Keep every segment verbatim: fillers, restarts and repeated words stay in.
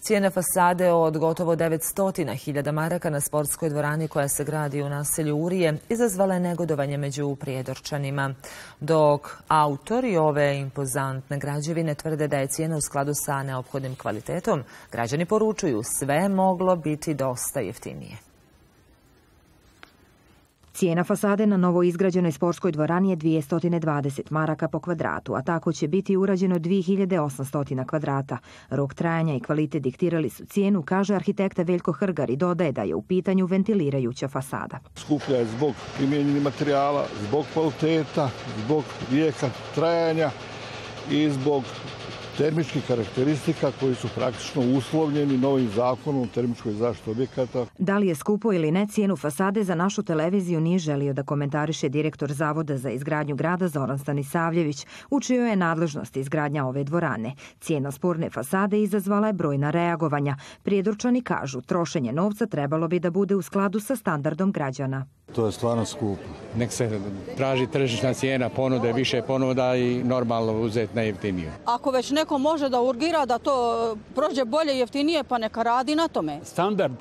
Cijene fasade od gotovo devetsto hiljada maraka na sportskoj dvorani koja se gradi u naselju Urije izazvala je negodovanje među Prijedorčanima. Dok autori ove impozantne građevine tvrde da je cijena u skladu sa neophodnim kvalitetom, građani poručuju sve moglo biti dosta jeftinije. Cijena fasade na novo izgrađenoj sportskoj dvorani je dvjesto dvadeset maraka po kvadratu, a tako će biti urađeno dvije hiljade osamsto kvadrata. Rok trajanja i kvalitet diktirali su cijenu, kaže arhitekta Veljko Hrgar i dodaje da je u pitanju ventilirajuća fasada. Skuplja je zbog primijenjenih materijala, zbog kvaliteta, zbog vijeka trajanja i zbog termičkih karakteristika koji su praktično uslovljeni novim zakonom o termičkoj zaštiti objekata. Da li je skupo ili ne, cijenu fasade za našu televiziju nije želio da komentariše direktor Zavoda za izgradnju grada Zoran Stanisavljević, u čijoj je nadležnosti izgradnja ove dvorane. Cijena sporne fasade izazvala je brojna reagovanja. Prijedorčani kažu, trošenje novca trebalo bi da bude u skladu sa standardom građana. To je stvarno skupo. Nek se traži tržišna cijena, ponude, više ponuda i normalno uzeti najjeftiniju. Ako već neko može da urgira da to prođe bolje, jeftinije, pa neka radi na tome. Standard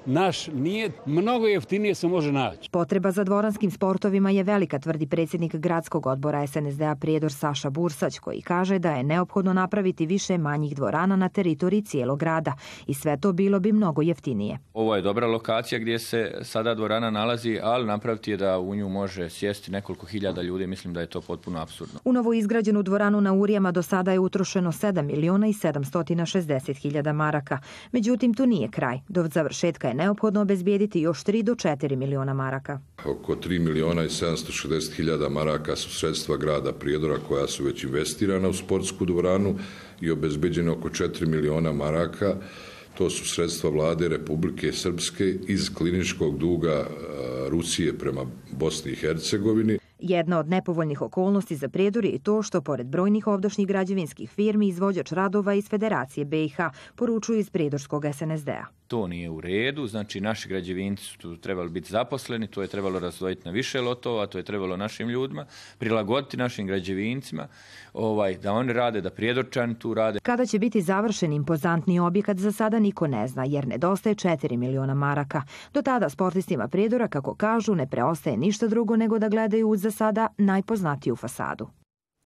naš nije, mnogo jeftinije se može naći. Potreba za dvoranskim sportovima je velika, tvrdi predsjednik gradskog odbora es en es de a Prijedor Saša Bursać, koji kaže da je neophodno napraviti više manjih dvorana na teritoriji cijelog grada i sve to bilo bi mnogo jeftinije. Ovo je dobra lokacija gdje se sada dvorana nalazi, ali napraviti je da u nju može sjesti nekoliko hiljada ljudi, mislim da je to potpuno apsurdno. U novo izgrađenu dvoranu na Urijama do sada je utrošeno sedam miliona i sedamsto šezdeset hiljada maraka. Međutim, tu nije kraj. Do završetka je neophodno obezbijediti još tri do četiri miliona maraka. Oko tri miliona i sedamsto šezdeset hiljada maraka su sredstva grada Prijedora koja su već investirana u sportsku dvoranu i obezbeđeno oko četiri miliona maraka. To su sredstva vlade Republike Srpske iz kliničkog duga Rusije prema Bosni i Hercegovini. Jedna od nepovoljnih okolnosti za Prijedor je i to što, pored brojnih ovdašnjih građevinskih firmi, izvođač radova iz Federacije be i ha poručuju iz prijedorskog es en es de a. To nije u redu, znači naši građevinci su trebali biti zaposleni, to je trebalo razdvojiti na više lotova, to je trebalo našim ljudima, prilagoditi našim građevincima, ovaj, da oni rade, da Prijedorčani tu rade. Kada će biti završen impozantni objekat, za sada niko ne zna, jer nedostaje četiri miliona maraka. Do tada sportistima Prijedora, kako kažu, ne preostaje ništa drugo nego da gledaju uz za sada najpoznatiju fasadu.